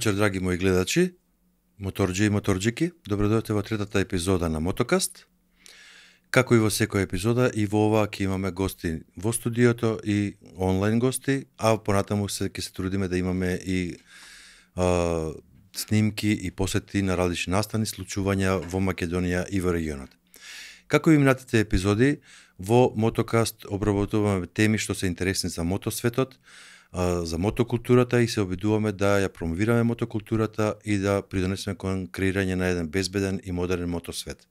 вечер, драги мои гледачи, моторџи и моторџики. Добро дојдовте во третата епизода на Мотокаст. Како и во секоја епизода, и во ова ќе имаме гости во студиото и онлайн гости, а понатаму ќе се трудиме да имаме и снимки и посети на различни настани, случувања во Македонија и во регионот. Како и минатите епизоди, во Мотокаст обработуваме теми што се интересни за мотосветот, за мотокултурата и се обидуваме да ја промовираме мотокултурата и да придонесеме кон креирање на еден безбеден и модерен мотосвет.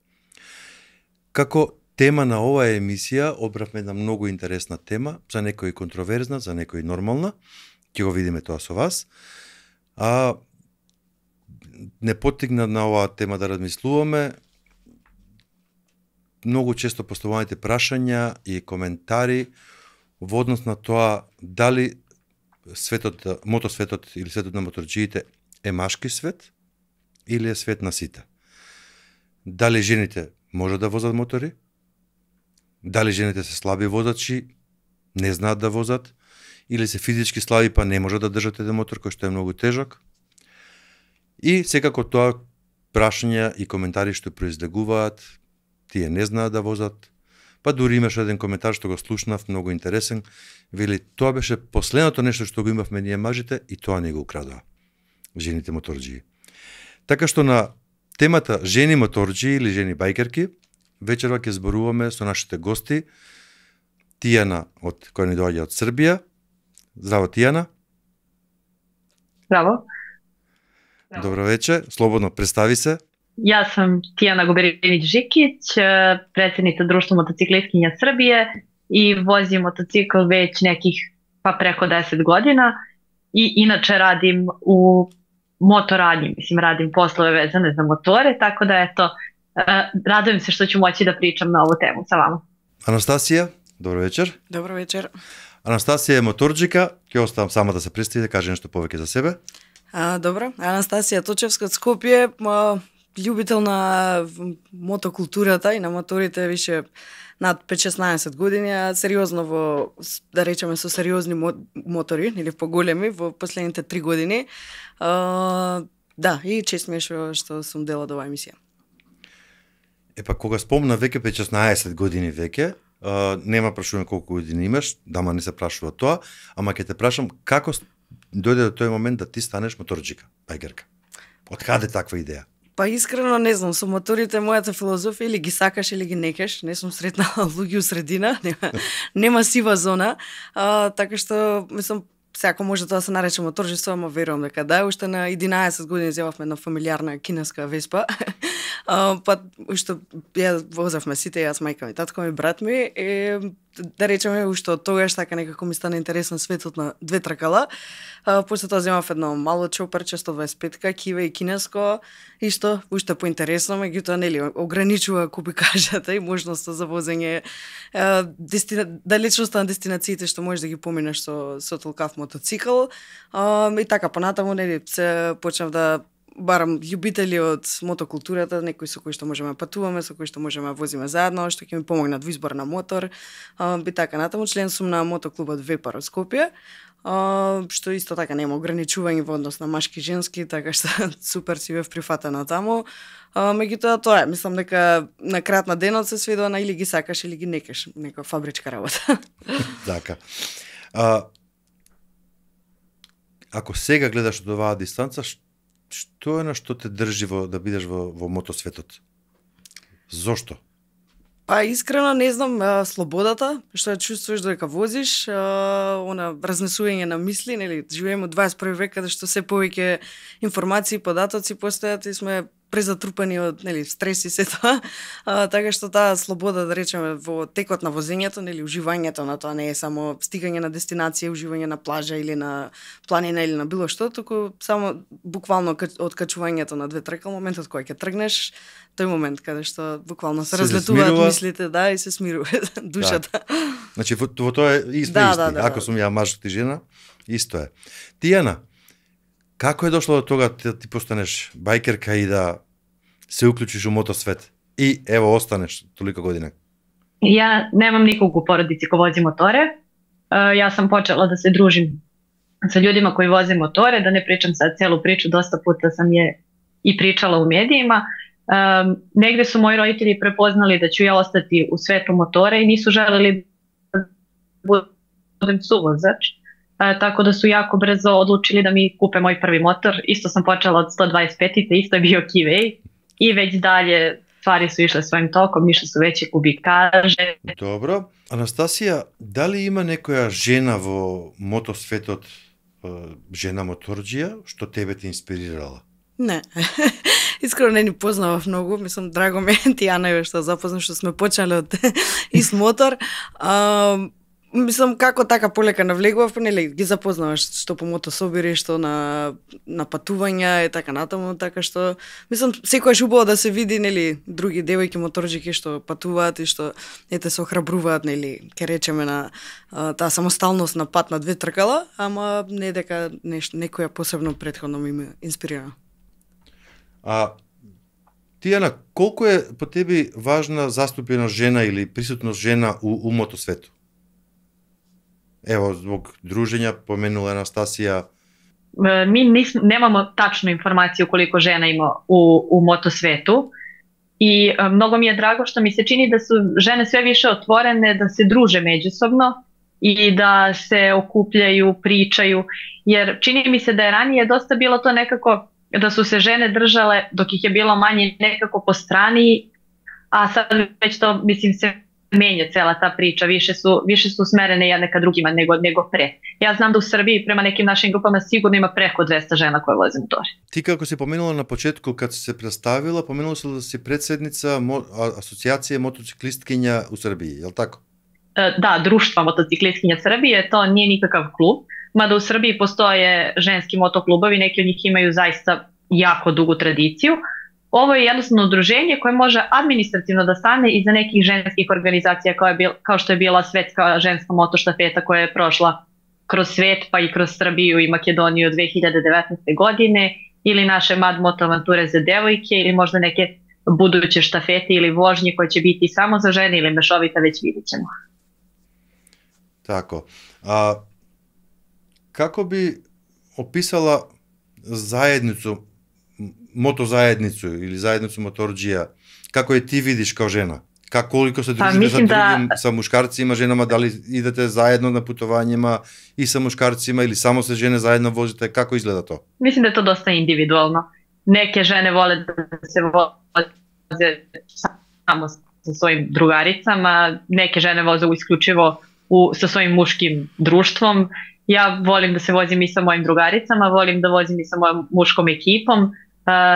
Како тема на оваа емисија одбравме една многу интересна тема, за некои контроверзна, за некои нормална. Ќе го видиме тоа со вас. Не поттигна на оваа тема да размислуваме. Многу често поставуваните прашања и коментари во однос на тоа дали светот, мотосветот или светот на моторџиите е машки свет или е свет на сите. Дали жените може да возат мотори? Дали жените се слаби возачи, не знаат да возат, или се физички слаби па не може да држат еден мотор кој што е многу тежок? И секако тоа прашања и коментари што произлегуваат, тие не знаат да возат. Па дури имаше еден коментар што го слушнав, многу интересен, вели тоа беше последното нешто што го имавме ние мажите и тоа не го украдоа жените моторџии. Така што на темата жени моторџии или жени бајкерки, вечерва ќе зборуваме со нашите гости, Тијана која ни доаѓа од Србија. Здраво, Тијана. Здраво. Добро вечер, слободно представи се. Јас сум Тијана Губеринич-Жикиć, председница Друштво мотоциклисткиња Србије и возим мотоцикл веќе неких преко 10 година и иначе радим у моторадњи, радим послове везане за мотори, тако да ето, радуjem се што ću моći да pričam на ову тему sa vama. Анастасија, добро вечер. Добро вечер. Анастасија е моторџика, ќе оставам сама да се представи, да каже нешто повеќе за себе. Добро, Анастасија Точевска од Скопје, љубител на мотокултурата и на моторите више над 5-16 години, а сериозно во, да речеме, со сериозни мотори, или поголеми, во последните 3 години. Да, и чест ми е што сум дел од оваа емисија. Епа, кога спомна веќе 5-16 години веќе, нема прашувам колку години имаш, дама не се прашува тоа, ама ќе те прашам како дојде до тој момент да ти станеш моторџика, бајкерка? Од каде таква идеја? Па искрено не знам, со моторите мојата филозофија или ги сакаш или ги некаш, не сум сретнала луѓе у средина, нема сива зона, така што мислам секако може тоа да се нарече моторџество, ама верувам дека да, уште на 11 години земавме една фамилиарна кинеска Веспа. Па уште ја возевме сите, јас, мајка ми, татко ми, брат ми, да речеме уште од тогаш така некако ми стана интересен светот на две тркала. После тоа земав едно мало чоперче 125-ка, киве и кинеско, и што уште поинтересно, меѓутоа нели ограничува, ако би кажете, и можноста за возење, далечноста на дестинациите што можеш да ги поминеш со толкав мотоцикл. И така понатаму нели се почнав да барам љубители од мотокултурата, некои со кои што можеме да патуваме, со кои што можеме да возиме заедно, што ќе ми помогнат во избор на мотор. Би така натаму член сум на мотоклубот Вепар од Скопје, што исто така нема ограничување во однос на машки и женски, така што супер си бев прифатена таму. Меѓутоа тоа е, мислам дека на крајот на денот се сведува на или ги сакаш или ги некаш, нека фабричка работа. Така. Ако сега гледаш од оваа дистанца, што е на што те држи да бидеш во мотосветот? Зошто? Па искрено не знам, слободата, што ја чувствуваш додека возиш, она разнесување на мисли, нели, живееме во 21 век каде што се повеќе информации, податоци постојат и сме презатрупани од, нели, стрес и се тоа. Така што таа слобода, да речеме, во текот на возењето, нели, уживањето на тоа не е само стигање на дестинација, уживање на плажа или на планина или на било што, туку само буквално откачувањето на две тркал, моментот кога ќе тргнеш, тој момент каде што буквално се разлетуваат мислите, да, и се смирува душата. Да. Значи во тоа е исто. Ако сум ја маж ти жена, исто е. Тијана, како е дошло до тога да ти постанеш бајкерка и да се уклучиш у мотосвет? И ево останеш толика година. Ја немам николку породици кои вози моторе. Јас сам почела да се дружим sa ljudima koji voze motore, da ne pričam sad celu priču, dosta puta sam je i pričala u medijima. Negde su moji roditelji prepoznali da ću ja ostati u svetu motora i nisu želeli da budem suvozač. Tako da su jako brzo odlučili da mi kupe moj prvi motor. Isto sam počela od 125-ice, isto je bio Kivej i već dalje stvari su išle svojim tokom, išle su veće kubikaže. Добро. Анастасија, дали има некоја жена во мотосветот, жена моторџија, што тебе те инспирирала? Не. Искрено не ни познавав многу, мислам драго ме Тијана е што запознав, што сме почнале од ист мотор. Мислам како така полека навлегував, нели ги запознаваш што по мотособири, што на патувања и така натаму, така што мислам секогаш убаво да се види, нели, други девојки моторџики што патуваат и што ете се охрабруваат, нели, ке речеме на таа самосталност на пат на две тркала, ама не дека некоја посебно претходно ми инспирира. Тијана, колку е по тебе важна заступеност жена или присутност жена у мотосвету? Ево, због дружења, поменула Анастасија. Mi nemamo tačnu informaciju koliko žena ima u motosvetu i mnogo mi je drago što mi se čini da su žene sve više otvorene, da se druže međusobno i da se okupljaju, pričaju, jer čini mi se da je ranije dosta bilo to nekako da su se žene držale dok ih je bilo manje nekako po strani, a sad već to mislim se menja cela ta priča, više su usmerene jedne ka drugima nego pre. Ja znam da u Srbiji prema nekim našim grupama sigurno ima preko 200 žena koje voze motore. Ти како си поменула на почетку кад се представила, поменула си да си председница Асоцијација мотоциклисткиња у Србiji, je li tako? Da, Društva motociklistkinja Srbije, to nije nikakav klub, mada u Srbiji postoje ženski motoklubovi, neki od njih imaju zaista jako dugu tradiciju. Ovo je jednostavno udruženje koje može administrativno da stane iza nekih ženskih organizacija kao što je bila Svetska ženska motoštafeta koja je prošla kroz svet pa i kroz Srbiju i Makedoniju 2019. godine ili naše Mad Moto avanture za devojke ili možda neke buduće štafete ili vožnje koje će biti samo za žene ili mešovita, već vidjet ćemo. Tako. Kako bi opisala zajednicu, мотозаедницу или заедницу моторџија, како ја ти видиш као жена? Колико се дружите sa drugim, sa muškarcima, ženama, da li idete zajedno na putovanjima i sa muškarcima ili samo se žene zajedno vozite, kako izgleda to? Mislim da je to dosta individualno. Neke žene vole da se voze samo sa svojim drugaricama, neke žene voze isključivo sa svojim muškim društvom. Ja volim da se vozim i sa mojim drugaricama, volim da vozim i sa mojom muškom ekipom.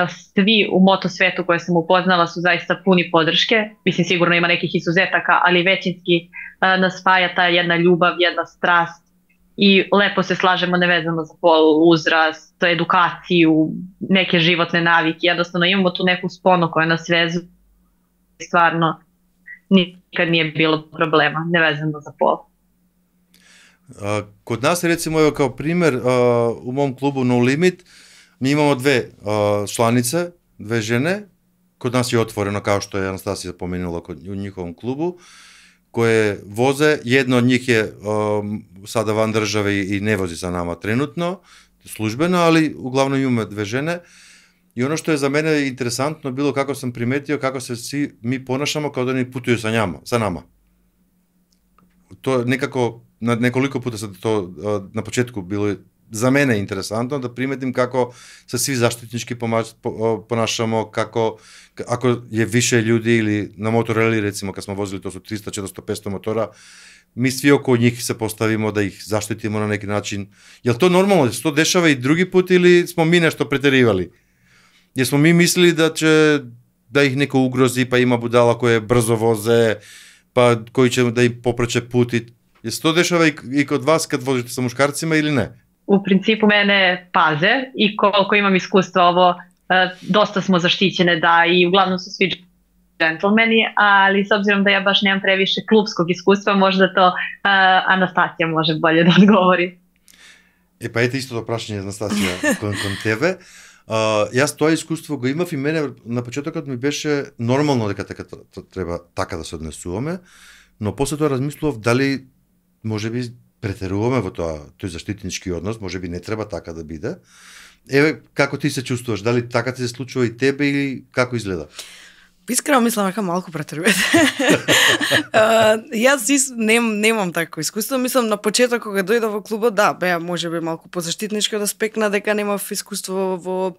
Svi u motosvetu koje sam upoznala su zaista puni podrške. Mislim, sigurno ima nekih izuzetaka, ali većinski nas spaja ta jedna ljubav, jedna strast i lepo se slažemo nevezano za pol, uzrast, edukaciju, neke životne navike. Jednostavno imamo tu neku sponu koja nas vezuje. Stvarno nikad nije bilo problema, nevezano za pol. Kod nas, recimo, evo kao primer, u mom klubu No Limit, mi imamo dve članice, dve žene, kod nas je otvoreno, kao što je Anastasija pomenula u njihovom klubu, koje voze, jedna od njih je sada van države i ne vozi sa nama trenutno, službeno, ali uglavnom imamo dve žene. I ono što je za mene interesantno bilo kako sam primetio kako se svi mi ponašamo kao da oni putuju sa nama. To nekako, nekoliko puta se to na početku bilo za mene interesantno da primetim kako se svi zaštitnički ponašamo, kako ako je više ljudi ili na motoreli, recimo kad smo vozili, to su 300, 400, 500 motora, mi svi oko njih se postavimo da ih zaštitimo na neki način. Je li to normalno? Se to dešava i drugi put ili smo mi nešto preterivali? Jer smo mi mislili da ih neko ugrozi, pa ima budala koje brzo voze, pa koji će da im popreće put. Je se to dešava i kod vas kad vozite sa muškarcima ili ne? U principu mene paze i koliko imam iskustva ovo, dosta smo zaštićene da i uglavnom su svi džentlmeni, ali s obzirom da ja baš nemam previše klubskog iskustva, možda to Anastasija može bolje da odgovori. Pa ете истото прашање, Анастасија, кон тебе. Јас тоа искуство го имав и мене на почетокот ми беше нормално дека треба така да се однесуваме, но после тоа размислував дали можеби претеруваме во тој заштитнички однос, можеби не треба така да биде. Еве, како ти се чувствуваш? Дали така ти се случува и тебе или како изгледа? Искрено мислам дека малку претерувате. Јас немам такво искуство. Мислам на почеток кога дојдов во клубот, да, беа можеби малку позаштитнички од аспектна дека немав искуство во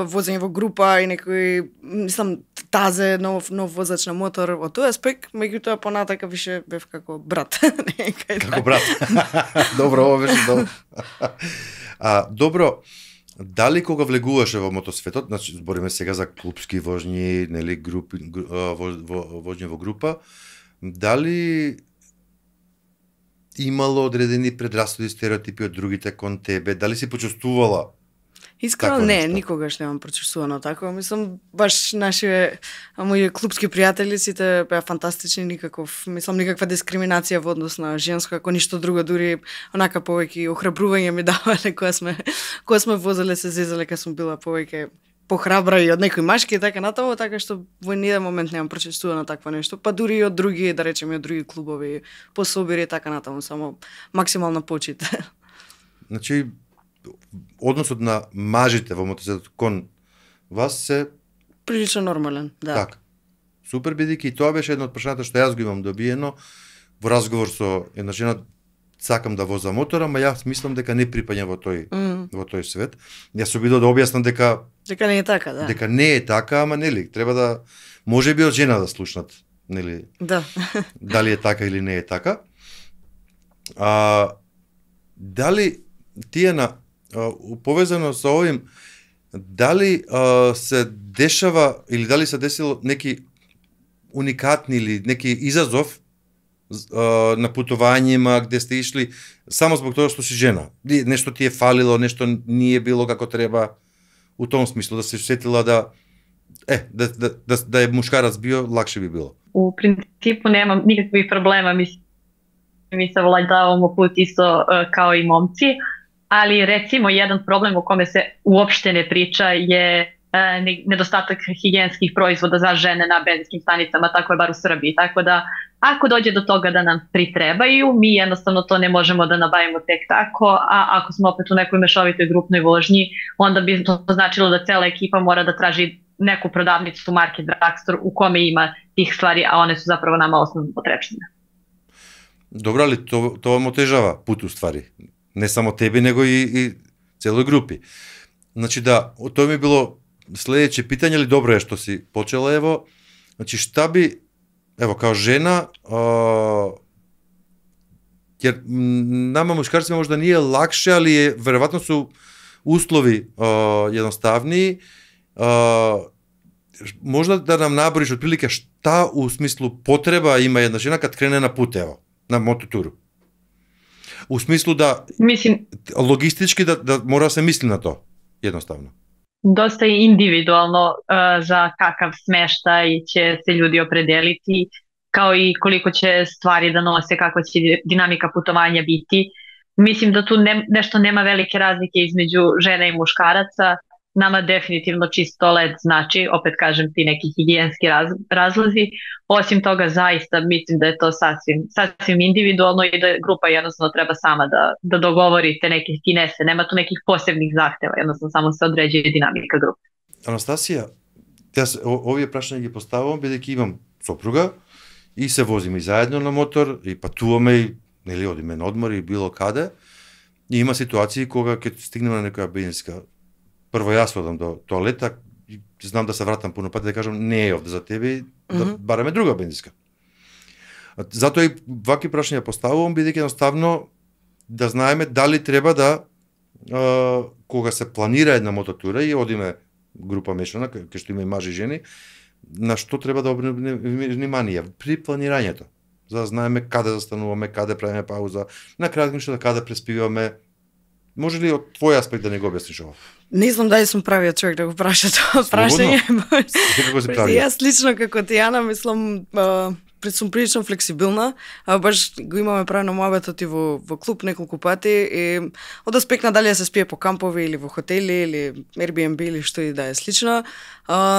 возење во група и некој, мислам, тазе, нов возач на мотор, во тој аспект, меѓутоа понатака више бев како брат. Како брат. Добро, ова беше добро. Добро, дали кога влегуваше во мотосветот, значи збориме сега за клубски вожњи, нели, групи, вожњи во група, дали имало одредени предрасуди, стереотипи од другите кон тебе, дали си почувствувала? Искрено не, никогаш немам прочувствувано тако. Мислам, баш нашите мои клубски пријатели сите беа фантастични, никаква дискриминација во однос на женско, ако ништо друго, дури онака повеќе охрабрување ми давале кога сме возеле, се зезале, кога сум била повеќе похрабра и од некои машки и така натаму, така што во ниеден момент немам прочувствувано такво нешто, па дури и од други, да речеме, од други клубови, пособири и така натаму, само максимална почит. Значи, односот на мажите во мотосветот кон вас се прилично нормален, да. Така. Супер, бидејќи и тоа беше едно од прашањата што јас го имам добиено во разговор со една жена, сакам да возам мотор, ама јас мислам дека не припаѓам во тој свет. Јас се обидов да објаснам дека не е така, да. Дека не е така, ама нели, треба да можеби од жена да слушнат, нели? Да. Дали е така или не е така. Дали тие на повезано со овим, дали се дешава или дали се десило неки уникатни или неки изазов на путувањима где сте ишли само због тоа што си жена? Нешто ти е фалило, нешто не е било како треба, у том смислу да се сетила да е мушкарац био, лакше би било. У принципу немам никакви проблема, ми се владавamo put isto kao i momci, ali recimo jedan problem o kome se uopšte ne priča je nedostatak higijenskih proizvoda za žene na benzinskim stanicama, tako je bar u Srbiji. Tako da, ako dođe do toga da nam pritrebaju, mi jednostavno to ne možemo da nabavimo tek tako, a ako smo opet u nekoj mešovitoj grupnoj vožnji, onda bi to značilo da cela ekipa mora da traži neku prodavnicu marke Drugstore u kome ima tih stvari, a one su zapravo nama osnovne potrepštine. Dobro, ali to vam otežava put u stvari. Не само тебе, него и целој групи. Значи да, тоа ми било следеće питање, ли добро е што си почела, ево. Значи шта би, ево, као жена, jer nama muškarcima možda nije lakše, ali je, verovatno su uslovi jednostavniji. Možda da nam naboriš otprilike šta u smislu potreba ima jedna žena kad krene na put, evo, na mototuru. U smislu da, logistički da mora se misli na to, jednostavno. Dosta je individualno za kakav smeštaj će se ljudi opredeliti, kao i koliko će stvari da nose, kakva će dinamika putovanja biti. Mislim da tu nešto nema velike razlike između žena i muškaraca. Nama definitivno čisto led znači, opet kažem, ti neki higijenski razlozi. Osim toga, zaista mislim da je to sasvim individualno i da grupa jednostavno treba sama da dogovori te neke finese. Nema tu nekih posebnih zahteva, jednostavno samo se određuje dinamika grupe. Анастасија, овие прашања ги поставувам бидејќи имам сопруга и се возиме заедно на мотор и патуваме и нели одиме на одмор и било каде. И има ситуации кога ќе стигнеме на некоја бензинска. Прво јас одам до тоалета и знам да се вратам пуно пати да кажам не е овде за тебе, да бараме друга бензинска. Затоа и вакви прашања поставувам бидејќи едноставно да знаеме дали треба да кога се планира една мототура и одиме група мешана, кај што има и мажи и жени, на што треба да обрнеме внимание при планирањето, за да знаеме каде застануваме, каде правиме пауза, на краткото каде преспиваме. Може ли од твој аспект да не го објасниш ова? Не знам дали сум правиот човек да го праша тоа прашање. Како се прави? Јас лично како Тијана мислам сум прилично флексибилна, баш го имаме правено муабетот и во клуб неколку пати и од аспект на дали да се спие по кампови или во хотели или Airbnb или што и да е слично.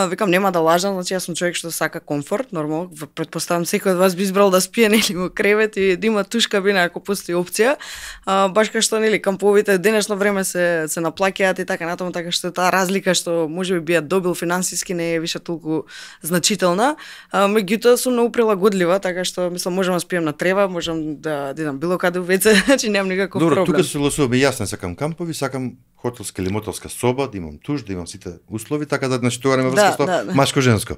Викам нема да лажам, значи јас сум човек што сака комфорт, нормално, претпоставам секој од вас би избрал да спие нели во кревет и да има туш кабина ако постои опција. Баш кај што нели камповите денешно време се наплаќаат и така натаму, така што таа разлика што можеби би ја добил финансиски не е више толку значителна. Меѓутоа сум многу прилагодлива, така што мислам можам да спием на трева, можам да идам било каде во WC, значи немам никаков проблем. Добро, тука се согласуваме, јас не сакам кампови, сакам хотелска или мотелска соба, да имам туш, да имам сите услови, така да значи тоа нема врска со машко-женско.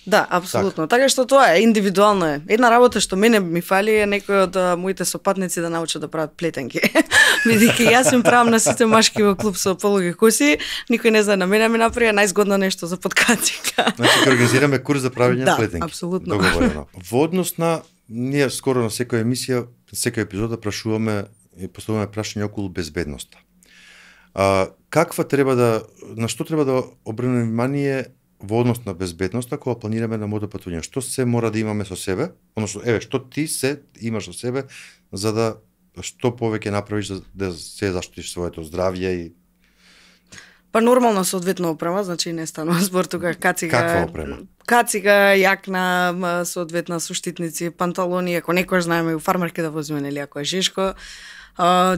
Да, апсолутно. Така што тоа е индивидуално е. Една работа што мене ми фали е некој од моите сопатници да научат да прават плетенки. Бидејќи јас им правам на сите машки во клуб со полуги коси, никој не знае на мене ми направи најзгодно нешто за подкацика. Значи ќе организираме курс за правење на плетенки. Да, апсолутно. Договорено. Во однос на ние скоро на секоја емисија, секоја епизода прашуваме и поставуваме прашања околу безбедноста. Каква треба на што треба да обрнеме внимание во однос на безбедноста кога планираме на мотопатување? Што се мора да имаме со себе? Односно, што ти се имаш со себе за да што повеќе направиш да се заштитиш своето здравје и Па нормално соодветно опрема, значи не станува збор тука кацига. Каква опрема? Кацига, јакна, соодветна со штитници, панталони, ако некој знаеме у фармерке да возиме нели ако е жешко.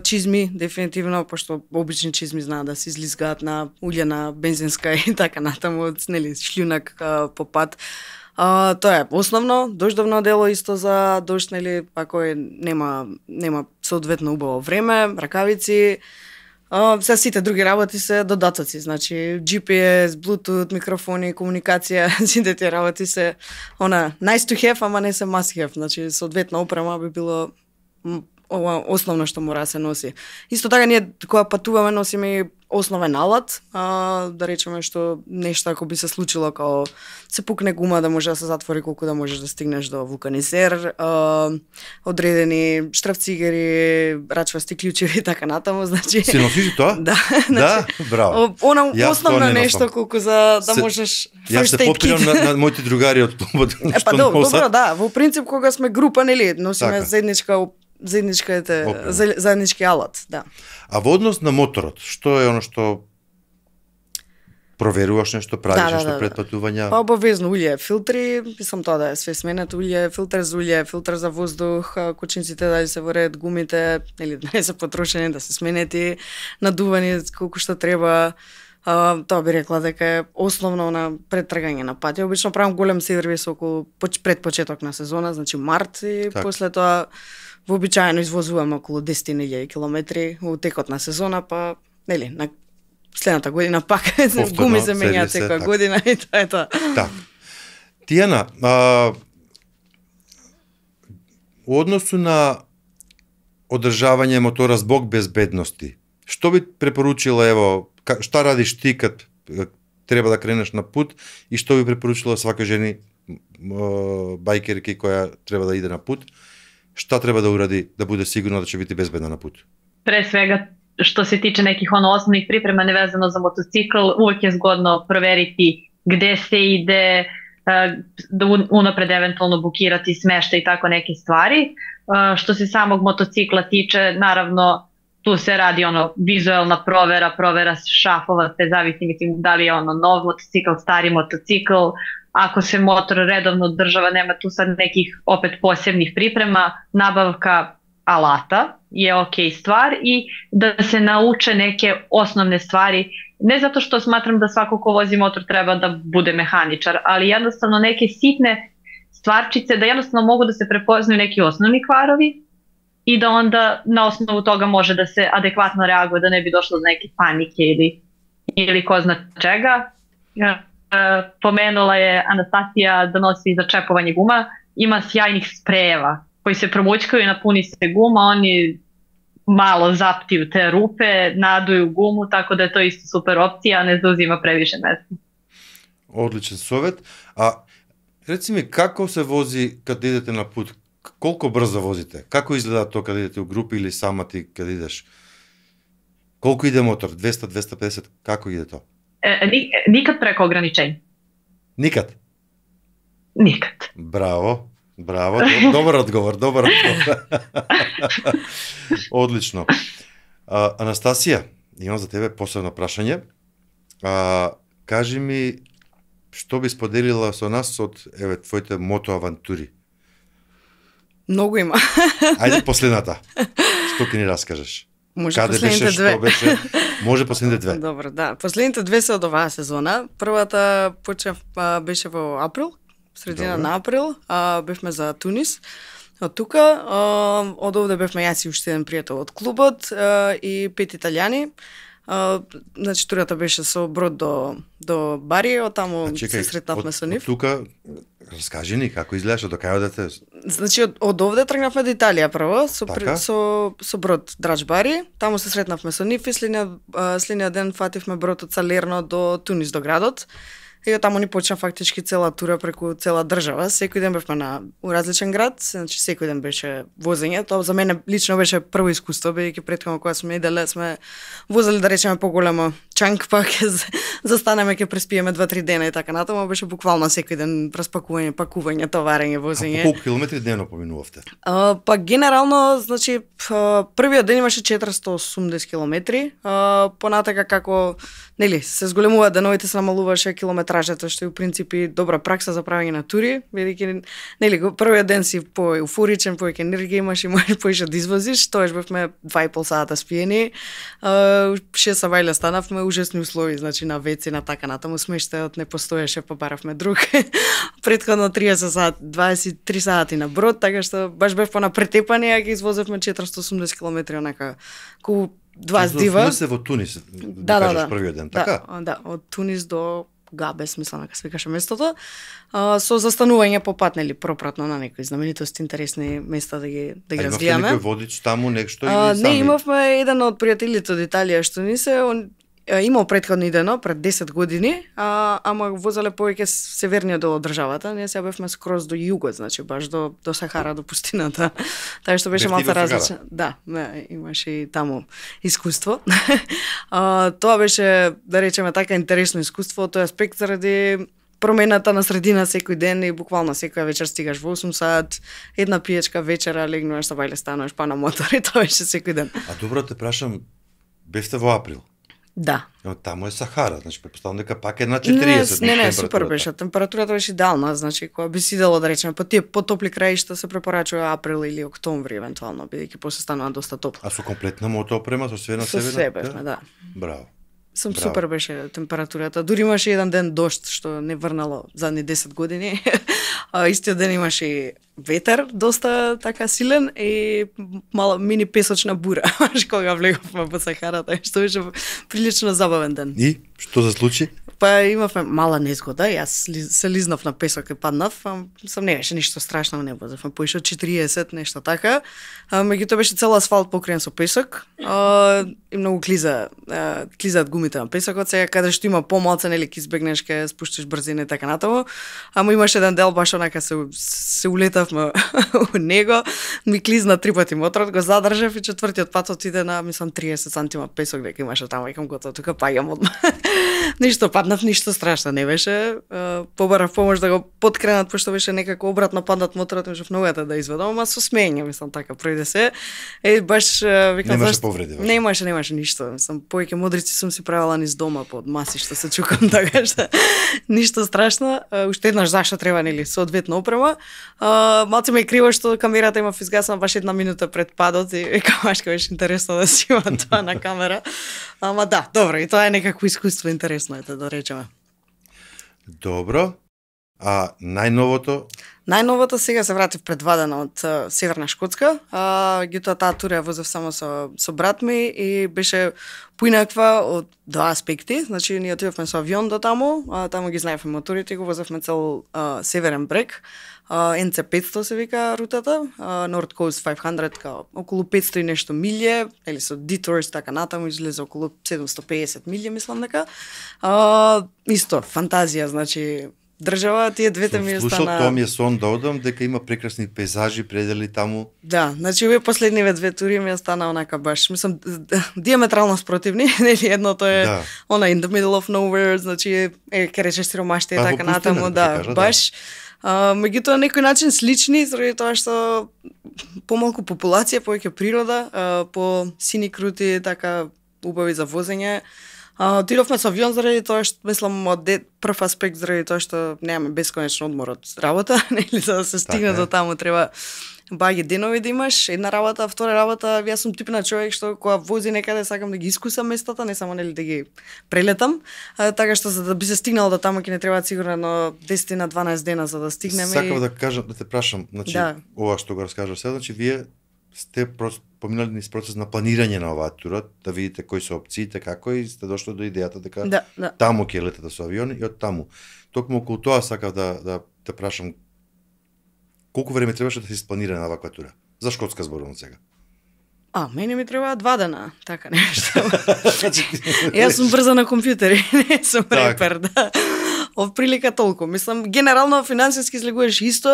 Чизми, дефинитивно, пошто обични чизми знаат да се излизгаат на улјена, бензинска и така натаму, нели, шлјунак по пат. Тоа е основно, дождовно дело исто за дожд, нели, ако нема соодветно убаво време, ракавици, се сите други работи се додатоци, значи GPS, Bluetooth, микрофони, комуникација, сите тие работи се nice to have, ама не се must have, значи соодветна опрема би било ова основно што мора да се носи. Исто така ние кога патуваме носиме и основен алат, да речеме што нешто ако би се случило као се пукне гума да може да се затвори колку да можеш да стигнеш до вулканизер, одредени штрафцигери, рачвасти клучеви и така натаму, значи. Си носиш тоа? Да, да, браво. Она основно нешто колку за да можеш Јас се попирам на моите другари од клубот. Па добро, да, во принцип кога сме група, нели, носиме заеднички алат, да. А во однос на моторот, што е оно што проверуваш нешто, правиш нешто пред патување? Па обавезно улје, филтри, мислам тоа да е све сменето улје, филтер за воздух, кочинците да се во ред, гумите, нели да не се потрошени, да се сменети, надувани колку што треба. Тоа би рекла дека е основно на предтргање на патја. Обично правам голем сервис околу пред почеток на сезона, значи март и после тоа вообичаено извозуваме околу 10.000 километри во текот на сезона, па нели на следната година пак гуми се менјаат секоја година и тоа е тоа. Так. Тијана, во односу на одржавање мотора због безбедности, што би препоручила, ево, што радиш ти кад треба да кренеш на пут и што би препоручила свака жени бајкерки која треба да иде на пут? Šta treba da uradi da bude sigurno da će biti bezbedna na putu? Pre svega, što se tiče nekih osnovnih priprema nevezano za motocikl, uvek je zgodno proveriti gde se ide, da unapred eventualno bukirati smeštaj i tako neke stvari. Što se samog motocikla tiče, naravno, tu se radi vizuelna provera šafova, te zavisi da li je nov motocikl, stari motocikl. Ako se motor redovno održava, nema tu sad nekih opet posebnih priprema, nabavka alata je ok stvar i da se nauče neke osnovne stvari, ne zato što smatram da svako ko vozi motor treba da bude mehaničar, ali jednostavno neke sitne stvarčice da jednostavno mogu da se prepoznaju neki osnovni kvarovi i da onda na osnovu toga može da se adekvatno reaguje, da ne bi došlo do neke panike ili ko zna čega. Pomenula je Anastasija da nosi za čepovanje guma, ima sjajnih sprejeva koji se promućkaju i napuni se guma, oni malo zaptiju te rupe, naduju gumu, tako da je to isto super opcija, ne zauzima previše mesta. Odličan совет. A reci mi, kako se vozi kad idete na put? Koliko brzo vozite? Kako izgleda to kad idete u grupi ili sama ti kad ideš? Koliko ide motor? 200, 250? Kako ide to? Nikad preko ograničenja. Nikad? Nikad. Bravo. Браво, добар одговор, добар одговор. Одлично. Анастасија, имам за тебе посебно прашање. Кажи ми, што би споделила со нас од твоите мотоавантури? Многу има. Ајде последната. Што ќе ни раскажеш? Може Каде последните беше, две. што беше? Може последните две. Добро, да. Последните две се од оваа сезона. Првата почнав беше во април, средина Добро. на април, бевме за Тунис. Од тука, од овде бевме јас и уште еден пријател од клубот и 5 италијани. Значи турата беше со брод до Бари, од таму се сретнавме со нив. Од тука раскажи ни како изгледаше, до кај одете? Значи од овде тргнавме до Италија прво Така? со брод Драч Бари, таму се сретнавме со нив и следниот ден фативме брод од Салерно до Тунис до градот. И таму ни почна фактички цела тура преку цела држава. Секој ден бевме на различен град, значи секој ден беше возење. Тоа за мене лично беше прво искуство, бидејќи претходно кога сме иделе сме возели да речеме поголемо чанк, па ќе застанеме, ќе преспиеме 2-3 дена и така натаму, беше буквално секој ден распакување, пакување, товарење, возење. А по колку километри дневно поминувавте? Па генерално, значи првиот ден имаше 480 километри, понатака како нели се зголемува деновите, се намалуваше километражата, што е у принципи добра пракса за правење на тури, бидејќи нели првиот ден си по еуфоричен, повеќе енергија имаш и можеш поише да извозиш, тоаш бевме 2,5 сата спиени, 6 савајле станавме, ужасни услови, значи на веци, на така натаму смештајот не постоеше, па баравме друг. Претходно 30 сати, 23 сати на брод, така што баш бев на претепани, а ги извозевме 480 километри онака ку два здива. Се во Тунис, да кажеш првиот ден, така? Да, од Тунис до Габес, мислам дека се викаше местото, со застанување по пат, нели, пропратно на некои знаменитости, интересни места да ги развијаме. Имавте некој водич таму, нешто или сами? Не, имавме еден од пријателите од Италија што ни се, имал претходно идено пред 10 години, ама возеле повеќе северниот дел од државата, ние сега бевме скроз до југот, значи баш до Сахара, до пустината. Така што беше малку различно. Да, имаше и таму искуство. Тоа беше, да речеме така, интересно искуство, тој аспект заради промената на средина секој ден и буквално секоја вечер стигаш во 8 сат, една пиечка вечера, легнуваш со бајле, стануваш па на мотор и тоа беше секој ден. А добро те прашам, бевте во април? Да. Но таму е Сахара, значи претпоставам дека пак е на 40. Не, супер беше. Температурата беше идеална, значи кога би си идело да речеме по тие потопли краишта се препорачува април или октомври евентуално, бидејќи после станува доста топло. А со комплетна мотоопрема, со све на себе? Со све бевме, да. Браво. Супер беше температурата. Дури имаше еден ден дожд што не врнало задни 10 години. Истиот ден имаше и ветер доста така силен и мала мини песочна бура, кога влеговме во Сахарата, што беше прилично забавен ден. И што се случи? Па имавме мала незгода, јас се лизнав на песок и паднав, сам не беше ништо страшно, не возевме поише од 40, нешто така. Меѓутоа беше цел асфалт покриен со песок и многу клизаат гумите на песокот, сега каде што има помалце, нели ќе избегнеш, ќе спуштиш брзина и така натаму. Ама имаше еден дел баш онака се улетавме у него, ми клизна 3 пати моторот, го задржав и четвртиот пат отиде на, мислам, 30 сантима песок дека имаше таму, викам готово, тука паѓам одма. Ништо паднав, ништо страшно не беше. Побарав помош да го подкренат, пошто беше некако обратно паднат моторот, можев ногата да изведам, ама со смење, мислам, така пројде се. Баш викам, немаше повреди. Немаше ништо. Мислам, повеќе модрици сум си правила низ дома под маси што се чукам, така што ништо страшно. Уште еднаш зашто треба, нели, соодветна опрема. Малце ме е криво што камерата има изгасна баш 1 минута пред падот и викам, машка беше интересно да си има тоа на камера. Ама да, добро, и тоа е некакво искуство интересно, ете да речеме. Добро. А најновото? Најновото сега се вратив пред 2 дена од Северна Шкотска. Гитоа таа тура ја возев само со брат ми и беше поинаква од два аспекти. Значи ние отидовме со авион до таму, таму ги знаевме моторите и го возевме цел северен брег. NC 500 се вика рутата, North Coast 500, као околу 500 и нешто милје, или со detours така натаму излезе околу 750 милје, мислам дека. Исто, фантазија, значи држава, тие двете ми остана. Тоа ми е сон да одам, дека има прекрасни пейзажи, предели таму. Да, значи овие последниве две тури ми остана онака баш, мислам, диаметрално спротивни, нели едното е она in the middle of nowhere, значи ке речеш сиромаштија така натаму, да, баш. Меѓутоа на некој начин слични, заради тоа што помалку популација, повеќе природа, по сини крути, така убави за возење. Отидовме со авион заради тоа што мислам од прв аспект заради тоа што немаме бесконечно одмор од работа, нели за да се стигне до таму треба баги денови да имаш, една работа, втора работа, јас сум тип на човек што кога вози некаде сакам да ги искусам местата, не само нели да ги прелетам, така што за да би се стигнал до таму ќе не треба сигурно 10 на 12 дена за да стигнеме. Сакав да кажам, да те прашам, значи ова што го раскажав сега, значи вие сте поминали низ процес на планирање на оваа тура, да видите кои се опциите, како и сте дошли до идејата дека таму ќе летате со авион и од таму. Токму околу тоа сакав да те прашам, колку време требаше да се испланира на ваква тура? За Шкотска зборувам сега. Мене ми треба 2 дена, така нешто. Јас сум брза на компјутери, не сум репер, да. Прилика толку. Мислам, генерално финансиски излегуваш исто,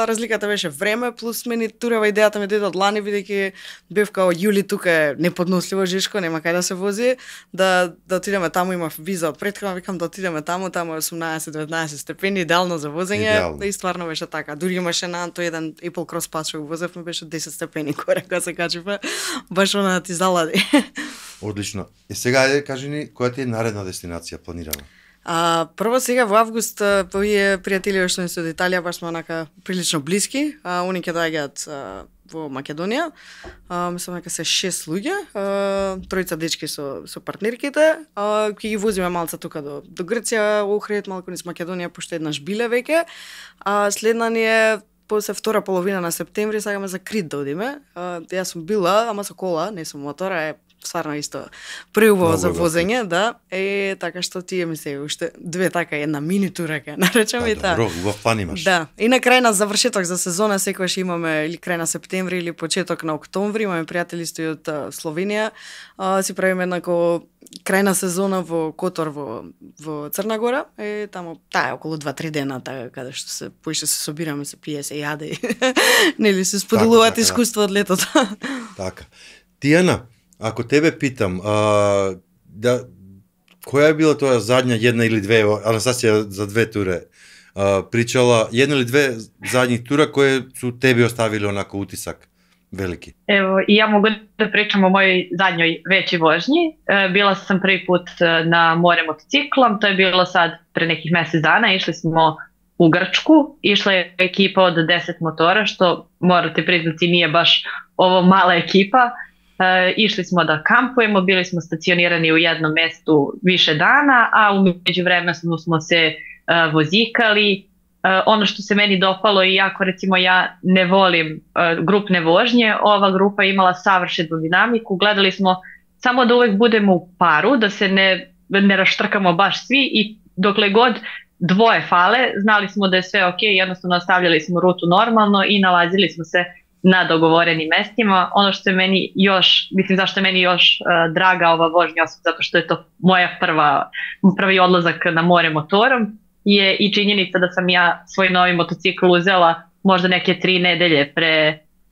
разликата беше време, плюс мене турава идејата ми дојде од лани, бидејќи бев као јули тука е неподносливо жешко, нема кај да се вози, да отидеме таму, имав виза од претходно, викам да отидеме таму е 18-19 степени, идеално за возење, и стварно беше така. Дури имаше на тој еден Apple Cross Pass што го возевме, беше 10 степени горе кога се качивме, баш она ти залади. Одлично. И сега кажи ни која ти е наредна дестинација планирана? Прво сега во август овие пријатели што се од Италија баш сме онака прилично блиски, они ќе доаѓаат во Македонија. Мислам дека се 6 луѓе, тројца дечки со партнерките. Ќе ги возиме малце тука до Грција, Охрид, малку низ Македонија, пошто еднаш биле веќе. Следна ни е после втора половина на септември сакаме за Крит да одиме. Јас сум била, ама со кола, не со мотор, стварно исто преубаво за возење, да. Така што тие ми се уште две така една мини тура ке наречам и таа. Добро, убав план имаш. Да. И на крај на завршеток за сезона секогаш имаме или крај на септември или почеток на октомври, имаме пријатели што од Словенија. Си правиме еднако крај на сезона во Котор во Црна Гора, таму таа е околу 2-3 дена, така каде што се поише се собираме, се пие, се јаде. Нели се споделуваат искуство од летото. Така. Тијана, ако тебе питам, која е била тоа задња една или две, Анастасија за 2 туре, причала една или две задњи тура кои су тебе оставили онако утисак велики? Ево, и ја могу да причам о мојoj задњој веќи vožњи. Била сам први пут на море мотоциклом, тоа е било сад пред неких месец дана, ишли смо у Грчку, išla je ekipa od 10 motora, što morate priznati nije baš ovo mala ekipa. Išli smo da kampujemo, bili smo stacionirani u jednom mestu više dana, a u međuvremenu smo se vozikali. Ono što se meni dopalo, iako recimo ja ne volim grupne vožnje, ova grupa imala savršenu dinamiku. Gledali smo samo da uvek budemo u paru, da se ne raštrkamo baš svi i dokle god dvoje fale, znali smo da je sve ok, jednostavno nastavljali smo rutu normalno i nalazili smo se na dogovorenim mestima. Ono što je meni još, mislim zašto je meni još draga ova vožnja, osim zato što je to moja prvi odlazak na more motorom, je i činjenica da sam ja svoj novi motocikl uzela možda neke 3 nedelje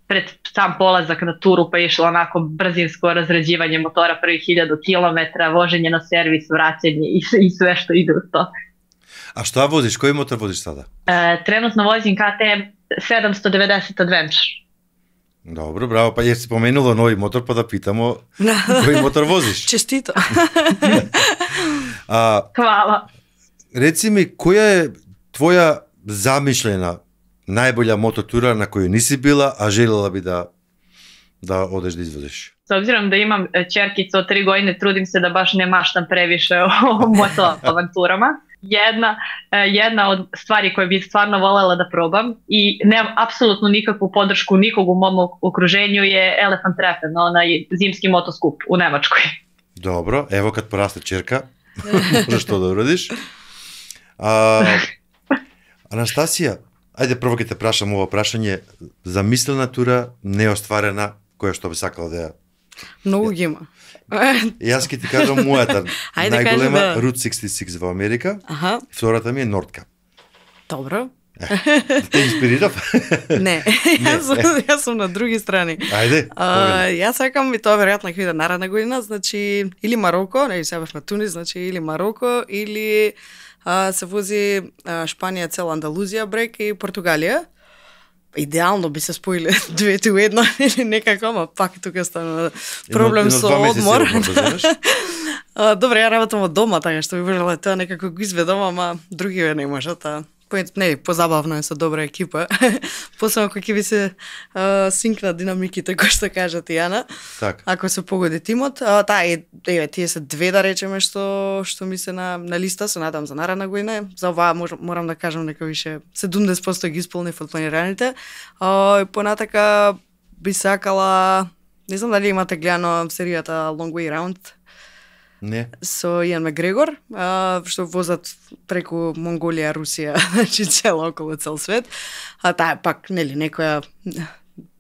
pred sam polazak na turu, pa je išlo onako brzinsko razrađivanje motora prvih 1000 km, voženje na servis, vraćanje i sve što ide u to. A šta voziš? Koji motor voziš sada? Trenutno vozim KTM 790 Adventure. Dobro, bravo, pa jer si pomenulo novi motor, pa da pitamo koji motor voziš. Čestito. Hvala. Reci mi, koja je tvoja zamišljena najbolja mototura na koju nisi bila, a željela bi da odeš da izvoziš? S obzirom da imam ćerkicu od 3 godine, trudim se da baš ne maštam previše o motoavanturama. Jedna od stvari koje bih stvarno voljela da probam i nemam apsolutno nikakvu podršku nikog u mom okruženju je Elephant Treffen, onaj zimski motoskup u Nemačkoj. Dobro, evo kad poraste ćerka, možeš to da uradiš. Anastasija, ajde prvo kad te prašam ovo prašanje, zamislena tura, neostvarena, koja što bi sakala da ja... Многу ги има. Јас ќе ти кажам мојата најголема Route 66 во Америка. Втората ми е Nordkapp. Добро. Те инспирирав? Не, јас сум на други страни. Ајде. Јас сакам и тоа веројатно ќе биде наредна година, значи или Мароко, не сега бевме Тунис, значи или Мароко или се вози Шпанија, цел Андалузија брек и Португалија. Идеално би се споиле двете у едно или некако, ама пак тука стана проблем со одмор. Добре, ја работам од дома, така што би можела тоа некако го изведам, ама другиве не можат, не, позабавно е со добра екипа. Посебно кога ќе ви се синкна динамиките, кој што кажа ти, Јана. Так. Ако се погоди тимот, тие се две, да речеме, што ми се на листа, се надам за наредна година. За оваа морам да кажам дека више 70% ги исполнив од планираните. Понатака би сакала, не знам дали имате гледано серијата Long Way Round. Не. Со Иан Макгрегор, што возат преку Монголија, Русија, значи цело околу цел свет. Таа е пак, нели, некоја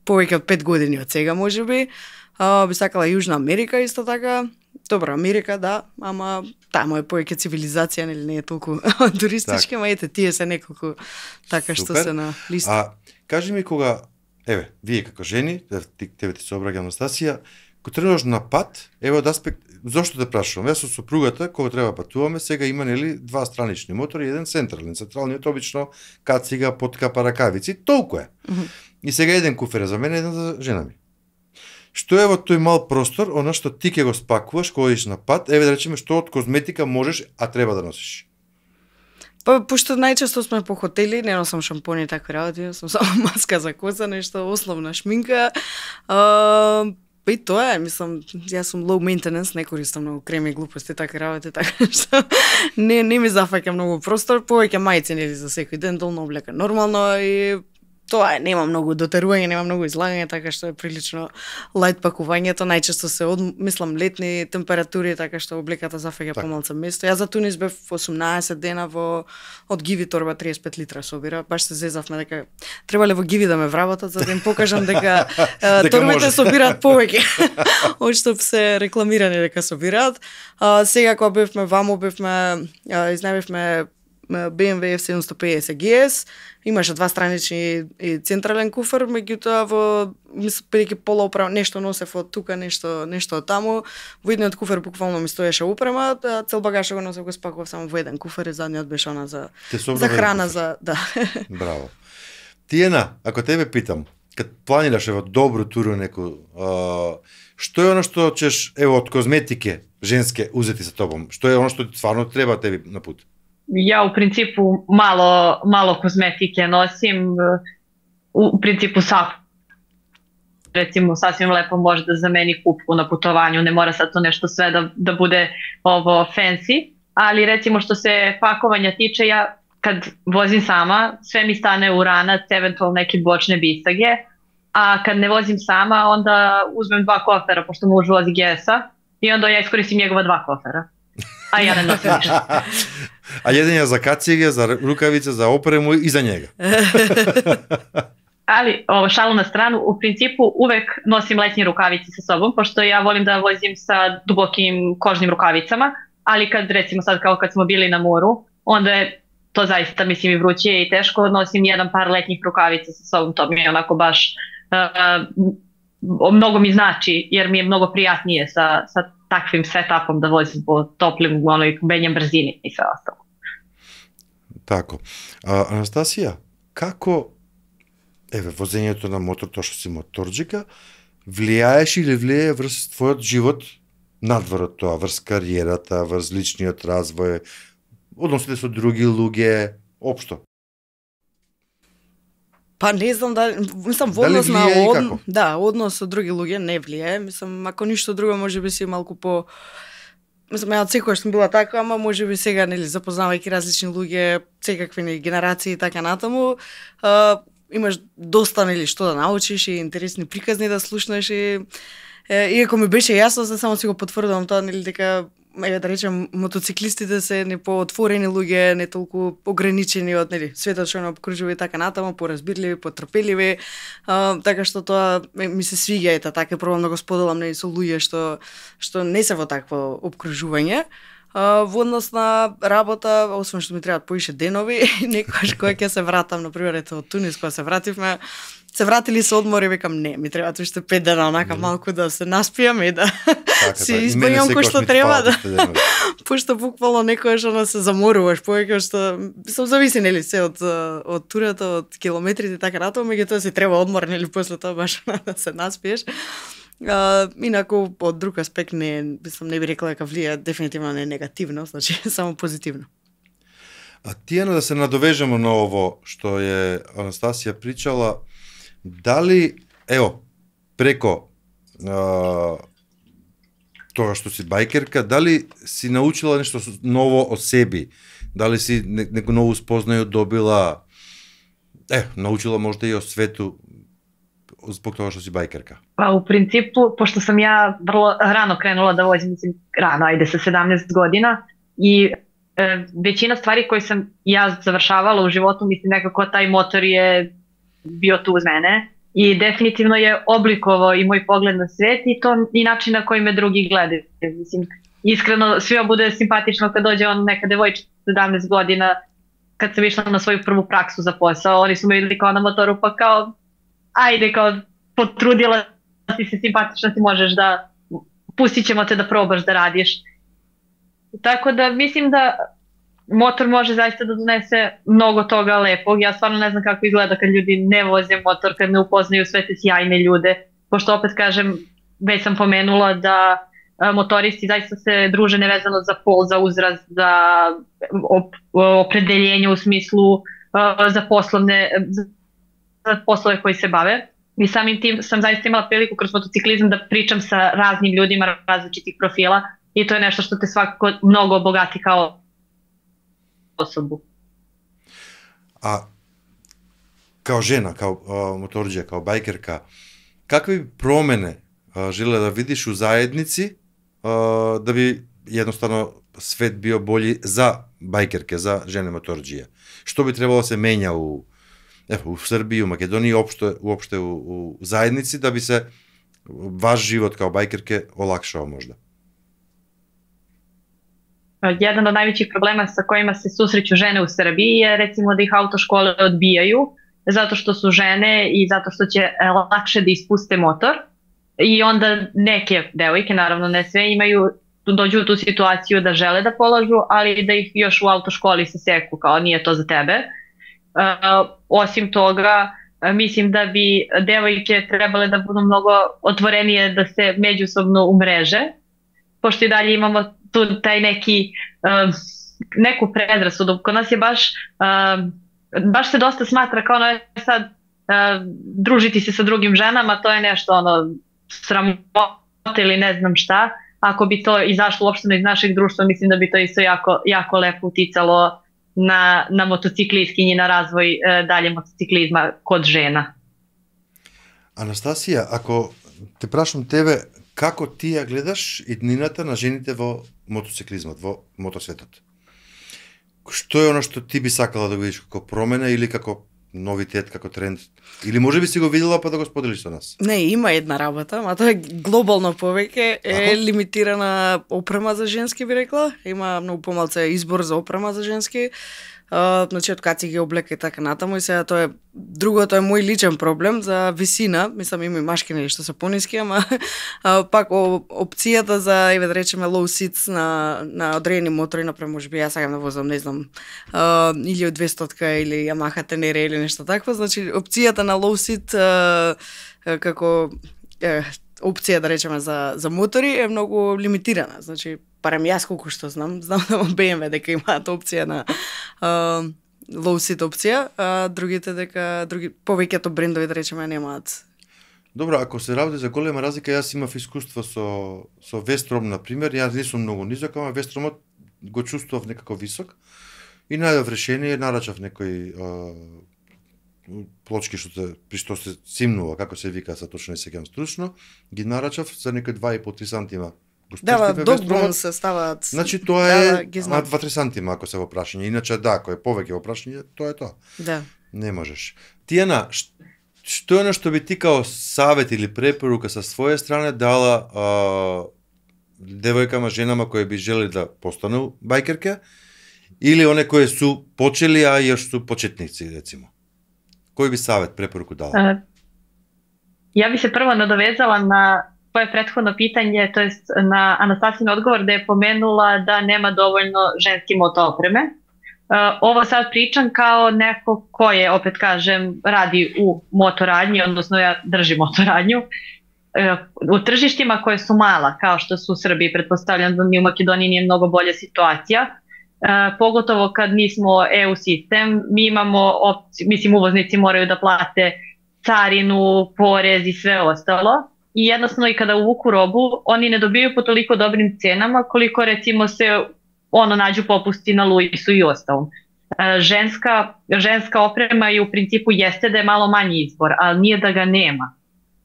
повеќе од 5 години од сега, можеби. Би сакала Јужна Америка исто така. Добро, Америка, да, ама таму е повеќе цивилизација, нели, не е толку туристички, ама ете, тие се неколку така што се на листа. Кажи ми кога, вие како жени, тебе ти се обраќам, Анастасија, кога тренуваш на пат, од аспект, зошто те прашувам? Јас со сопругата, кога треба патуваме, сега има, нели, два странични мотори и еден централен. Централниот обично кацига, поткапа, ракавици, толку е. И сега еден куфер е за мене, еден за жена ми. Што е во тој мал простор, она што ти ќе го спакуваш кога идеш на пат, да речеме што од козметика можеш, а треба да носиш? Пошто најчесто сме по хотели, не носам шампони и такви работи, сум само маска за коса, нешто основна шминка. И тоа е, мислам, јас сум low maintenance, не користам многу креми и глупости, така работи, така што не ми зафаќа многу простор, повеќе мајци, нели, за секој ден, долна облека нормално и тоа е, нема многу дотерување, нема многу излагање, така што е прилично лајт пакувањето, најчесто се мислам летни температури, така што облеката зафаќа помалку место. Јас за Тунис бев 18 дена од Гиви торба 35 литра собира, баш се зезавме дека требале во Гиви да ме вработат за да им покажам дека торбите собираат повеќе. Од што се рекламирани дека собираат. Сега кога бевме ваму, изнавивме BMW F750 GS, имаше два странични и централен куфер, меѓутоа бидејќи пола опрема, нешто носев од тука, нешто од таму, во едниот куфер буквално ми стоеше опрема, цел багаж го носев, го спакував само во еден куфер и задниот беше она за храна, да. Браво. Тиена, ако тебе питам, кад планираш во добро туру неко, што е оно што ćeš од козметике женске узети со тобом? Што е оно што стварно треба тебе на пут? Ja u principu malo kozmetike nosim, u principu recimo sasvim lepo može da zameni kupku na putovanju, ne mora sad to nešto sve da bude ovo fancy, ali recimo što se pakovanja tiče, ja kad vozim sama, sve mi stane u ranac, eventualno neke bočne bisage, a kad ne vozim sama, onda uzmem dva kofera, pošto muž vozi GS-a, i onda ja iskoristim njegova dva kofera. A ja ne nosim ništa. А еден ја за кациге, за рукавице, за опрему и за njega. Ali, šalu na stranu, u principu uvek nosim letnje rukavice sa sobom, pošto ja volim da vozim sa dubokim kožnim rukavicama, ali kad recimo sad kao kad smo bili na moru, onda je to zaista mislim i vruće i teško, nosim jedan par letnjih rukavica sa sobom, to mi je onako baš mnogo mi znači, jer mi je mnogo prijatnije sa takvim setupom da vozim po toplim, menjem brzini i sve ostalo. Тако. Анастасија, како возењето на мотор, тоа што си моторџика, влијаеш или влијае врз твојот живот надвор од тоа, врз кариерата, врз личниот развој, односите со други луѓе, општо? Па не знам мислам во однос на однос со други луѓе не влијае, мислам ако ништо друго можеби си малку по мислам ја од секојаш сум била така, ама можеби сега нели запознавајќи различни луѓе, секакви генерации и така натаму, имаш доста нели што да научиш и интересни приказни да слушнеш и иако ми беше јасно, само си го потврдувам тоа нели дека да речем мотоциклистите се не поотворени луѓе, не толку ограничени од нели светот што не обкружува и така натаму, поразбирливи, потрпеливи, така што тоа ми се свиѓа, така пробам да го споделам нели со луѓе што не се во такво обкружување. Во однос на работа, освен што ми требаат поише денови, некогаш кога ќе се вратам, например, од Тунис, кога се вративме, се вратили со одмор и викам не, ми треба уште 5 дена онака малку да се наспијам и да се избавам кој што треба да. Пошто буквално некојаш она се заморуваш повеќе што сум зависи нели се од турата, од километрите така натаму, меѓутоа си треба одмор нели после тоа баш да се наспиеш. Инаку од друг аспект не би рекла дека влија дефинитивно не негативно, значи само позитивно. А Тијана, да се надовежеме на ово што е Анастасија причала, дали, преко тоа што си бајкерка, дали си научила нешто ново од себе? Дали си неко ново спознају добила, научила можда и од свету због тоа што си бајкерка? Па, у принципу, пошто сам ја врло рано кренула да возим, рано, со 17 година, и većina stvari koje sam ja završavala u životu, mislim nekako taj motor je bio tu uz mene i definitivno je oblikovao i moj pogled na svet i to i način na koji me drugi gledaju. Mislim, iskreno svima bude simpatično kad dođe neka devojčica 17 godina, kad sam išla na svoju prvu praksu za posao, oni su me videli kao na motoru pa kao ajde, kao potrudila si se, simpatično ti možeš da, pustit ćemo te da probaš da radiš. Tako da mislim da motor može zaista da donese mnogo toga lepog. Ja stvarno ne znam kako izgleda kad ljudi ne voze motor, kad ne upoznaju sve te sjajne ljude. Pošto opet kažem, već sam pomenula da motoristi zaista se druže nevezano za pol, za uzrast, za opredeljenje u smislu za poslove koji se bave. I samim tim sam zaista imala priliku kroz motociklizam da pričam sa raznim ljudima različitih profila. I to je nešto što te svakako mnogo obogati kao osobu. A kao žena, kao motorđija, kao bajkerka, kakve bi promene želela da vidiš u zajednici da bi jednostavno svet bio bolji za bajkerke, za žene motorđije? Što bi trebalo se menja u Srbiji, u Makedoniji, uopšte u zajednici da bi se vaš život kao bajkerke olakšao možda? Jedan od najvećih problema sa kojima se susreću žene u Srbiji je recimo da ih autoškole odbijaju zato što su žene i zato što će lakše da ispuste motor i onda neke devojke, naravno ne sve, dođu u tu situaciju da žele da polažu, ali da ih još u autoškoli saseku kao nije to za tebe. Osim toga, mislim da bi devojke trebale da budu mnogo otvorenije da se međusobno umreže, pošto i dalje imamo tu taj neku predrasudu. Kod nas je baš se dosta smatra kao sad družiti se sa drugim ženama, to je nešto sramota ili ne znam šta. Ako bi to izašlo uopšteno iz našeg društva, mislim da bi to isto jako lepo uticalo na motociklistkinji i na razvoj dalje motociklizma kod žena. Анастасија, ако те прашам тебе, како ти ја гледаш иднината на жените во мотоциклизмот, во мотосветот? Што е оно што ти би сакала да видиш како промена или како новитет, како тренд? Или може би си го видела па да го споделиш со нас? Не, има една работа, ма тоа е глобално повеќе, лимитирана опрема за женски, би рекла. Има многу помалку избор за опрема за женски. Значи од каци ги облека и така натаму, и сега тоа е другото е мој личен проблем за висина, мислам има и машки нели што се пониски, ама пак опцијата за еве да речеме low seats на одредени мотори, например можеби јас сакам да возам, не знам, или 200-ка или Yamaha Tenere или нешто такво, значи опцијата на low seat како опција да речеме за мотори е многу лимитирана, значи барем јас колку што знам да BMW дека имаат опција на low seat опција, а другите дека повеќето брендови да речеме немаат. Добро, ако се работи за голема разлика, јас имав искуство со Вестром на пример, јас не сум многу низок, ама Вестромот го чувствував некако висок и најдов решение, нарачав некој плочки при што се симнува, како се вика, са точно не сеќавам стручно, ги нарачав за некој 2,5-3 сантима. Да, догбон се ставаат. Значи тоа е 2-3 сантима ако се во прашање, иначе да, ако е повеќе во прашање, тоа е тоа. Да. Не можеш. Тијана, што е нешто би ти као савет или препорука со своја страна дала девојкама, женама кои би желели да постану бајкерке или оне кои су почели, а још су почетници, рецимо? Кој би савет, препоруку дала? Ja bi se prvo nadovezala na tvoje prethodno pitanje, to jest na Anastasijin odgovor da je pomenula da nema dovoljno ženske moto opreme. Ovo sad pričam kao neko ko je, opet kažem, radi u motoradnji, odnosno ja držim motoradnju. U tržištima koje su mala, kao što su u Srbiji, pretpostavljam da mi u Makedoniji nije mnogo bolja situacija, pogotovo kad nismo EU sistem, mi imamo, mislim, uvoznici moraju da plate carinu, porez i sve ostalo. I jednostavno i kada uvuku robu, oni ne dobiju po toliko dobrim cenama koliko recimo se nađu popusti na Luisu i ostalom. Ženska oprema i u principu jeste da je malo manji izbor, ali nije da ga nema.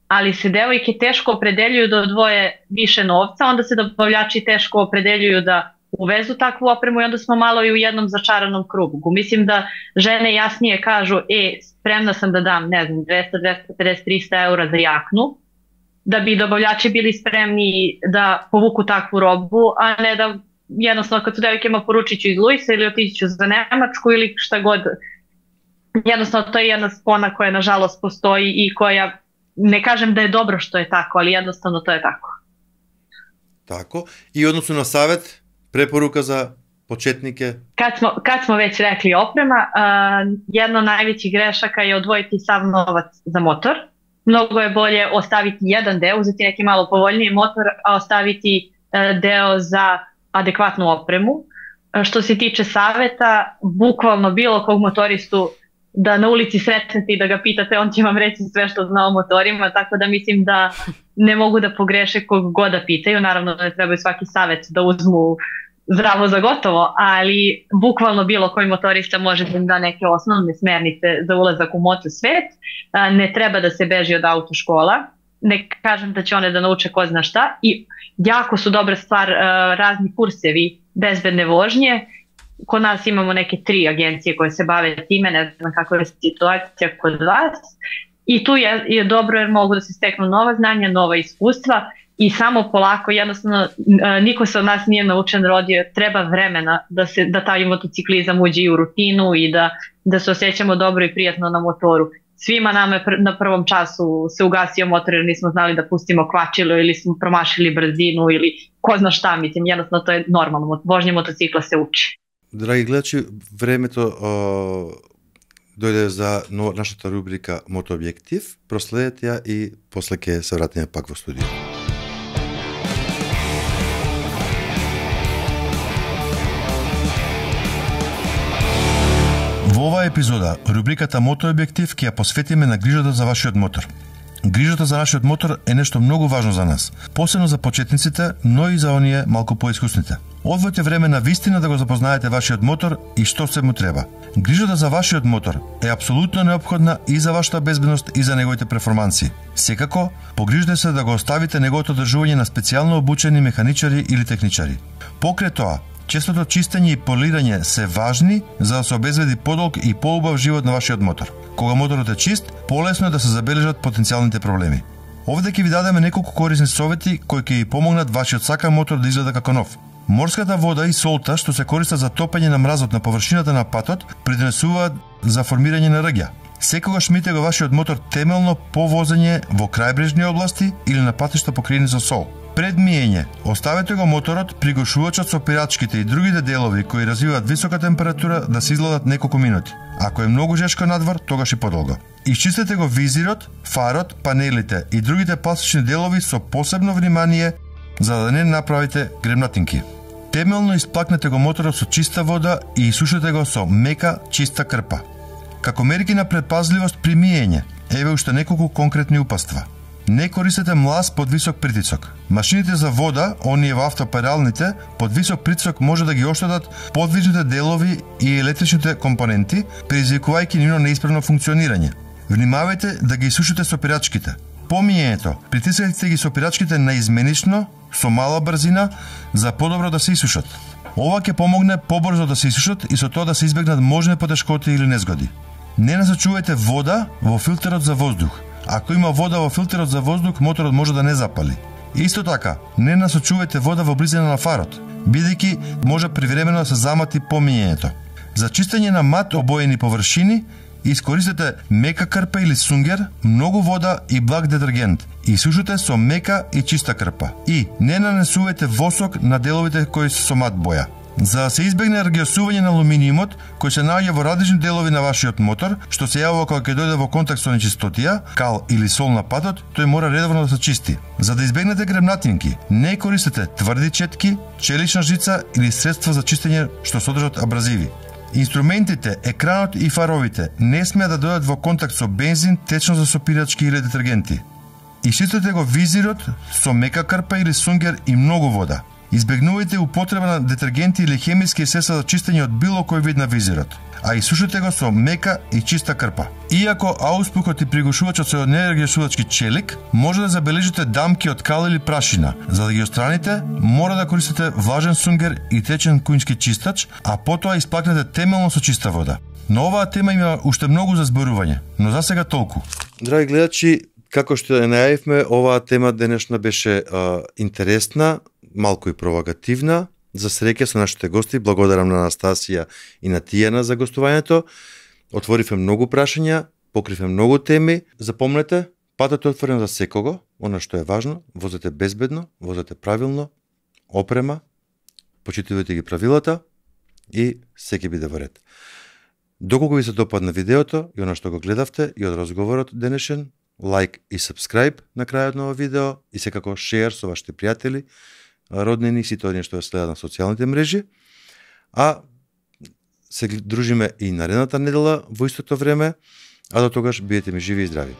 Ali se devojke teško opredeljuju da odvoje više novca, onda se dobavljači teško opredeljuju da uvezu takvu opremu i onda smo malo i u jednom začaranom krugu. Mislim da žene jasnije kažu, spremna sam da dam, ne znam, 200, 250, 300 eura za jaknu, da bi dobavljači bili spremni da povuku takvu robu, a ne da jednostavno kad su devojkama poručit ću iz Luisa ili otići ću za Nemačku ili šta god. Jednostavno to je jedna spona koja nažalost postoji i koja, ne kažem da je dobro što je tako, ali jednostavno to je tako. Tako. I odnosno na savjet, preporuka za početnike? Kad smo već rekli oprema, jedna od najvećih grešaka je odvojiti sav novac za motor. Mnogo je bolje ostaviti jedan deo, uzeti neki malo povoljniji motor, a ostaviti deo za adekvatnu opremu. Što se tiče saveta, bukvalno bilo kog motoristu da na ulici sretnete i da ga pitate, on će vam reći sve što zna o motorima, tako da mislim da ne mogu da pogreše kog god da pitaju. Naravno da ne trebaju svaki savet da uzmu zdravo za gotovo, ali bukvalno bilo koji motorista može da im da neke osnovne smernice za ulazak u motosvet. Ne treba da se beži od autoškola, ne kažem da će one da nauče ko zna šta i jako su dobra stvar razni kursevi bezbedne vožnje. Kod nas imamo neke 3 agencije koje se bave time, ne znam kakva je situacija kod vas. I tu je dobro jer mogu da se steknu nova znanja, nova iskustva i samo polako, jednostavno niko se od nas nije naučen rodio, treba vremena da taj motociklizam uđe i u rutinu i da se osjećamo dobro i prijatno na motoru. Svima nama na prvom času se ugasio motor jer nismo znali da pustimo kvačilo ili smo promašili brzinu ili ko zna šta, mislim, jednostavno to je normalno, vožnje motocikla se uči. Драги гледачи, времето дојде за нашата рубрика Мотообјектив. Проследете ја и после ќе се вратиме пак во студио. Во оваа епизода, рубриката Мотообјектив ќе ја посветиме на грижата за вашиот мотор. Грижата за нашиот мотор е нешто многу важно за нас, посебно за почетниците, но и за оние малку поискусните. Одвојте време на вистина да го запознаете вашиот мотор и што се му треба. Грижата за вашиот мотор е апсолутно неопходна и за вашата безбедност и за неговите перформанси. Секако, погрижете се да го оставите неговото одржување на специјално обучени механичари или техничари. Покрај тоа, честото чистење и полирање се важни за да се обезбеди подолг и поубав живот на вашиот мотор. Кога моторот е чист, полесно е да се забележат потенцијалните проблеми. Овде ќе ви дадеме неколку корисни совети кои ќе ви помогнат вашиот сакан мотор да изгледа како нов. Морската вода и солта што се користат за топење на мразот на површината на патот придонесуваат за формирање на рѓа. Секогаш мите го вашиот мотор темелно по возење во крајбрежни области или на патишта покриени со сол. Пред миење, оставете го моторот, пригошувачот со пирачките и другите делови кои развиваат висока температура да се изгладат неколку минути. Ако е многу жешко надвор, тогаш и подолго. Исчистете го визирот, фарот, панелите и другите пластични делови со посебно внимание за да не направите гремнатинки. Темелно исплакнете го моторот со чиста вода и исушете го со мека, чиста крпа. Како мерки на предпазливост при миење, еве уште неколку конкретни упатства. Не користете млаз под висок притисок. Машините за вода, оние во автопералните, под висок притисок може да ги оштетат подвижните делови и електричните компоненти, предизвикувајќи нивно неисправно функционирање. Внимавајте да ги исушите со пирачките. По миењето, притискајте ги со пирачките наизменично, со мала брзина, за подобро да се исушат. Ова ќе помогне побрзо да се исушат и со тоа да се избегнат можни потешкоти или незгоди. Не насочувајте вода во филтерот за воздух. Ако има вода во филтерот за воздух, моторот може да не запали. Исто така, не насочувајте вода во близина на фарот, бидејќи може привремено да се замати по миењето. За чистење на мат обоени површини, искористете мека крпа или сунгер, многу вода и благ детергент. И сушете со мека и чиста крпа. И не нанесувате восок на деловите кои се со мат боја. За да се избегне ргиосување на алуминиумот, кој се наоѓа во различни делови на вашиот мотор, што се јавува кога ќе дојде во контакт со нечистотија, кал или сол на патот, тој мора редовно да се чисти. За да избегнете гремнатинки, не користете тврди четки, челична жица или средства за чистење што содржат абразиви. Инструментите, екранот и фаровите не смеа да дојдат во контакт со бензин, течно за сопирачки или детергенти. Исчистете го визирот со мека крпа или сунгер и многу вода. Избегнувајте употреба на детергенти или хемиски средства за чистење од било кој вид на визирот, а исушете го со мека и чиста крпа. Иако ауспухот и пригушувачот се од нерегиосувачки челик, може да забележите дамки од кал или прашина. За да ги отстраните, мора да користите влажен сунгер и течен куњски чистач, а потоа исплакнете темелно со чиста вода. Но оваа тема има уште многу за зборување, но за сега толку. Драги гледачи, како што ја најавивме, оваа тема денешна беше интересна, малку и провокативна. За среќа со нашите гости, благодарам на Анастасија и на Тијана за гостувањето. Отворивме многу прашања, покривме многу теми. Запомнете, патот е отворен за секого, она што е важно, возете безбедно, возете правилно, опрема, почитувате ги правилата и се ќе биде во ред. Доколку ви се допадна видеото и она што го гледавте и од разговорот денешен, лайк и subscribe на крајот на ова видео и секако шеер со вашите пријатели, роднини и сите оние што ја следат на социјалните мрежи. А се дружиме и наредната недела во истото време, а до тогаш бидете ми живи и здрави.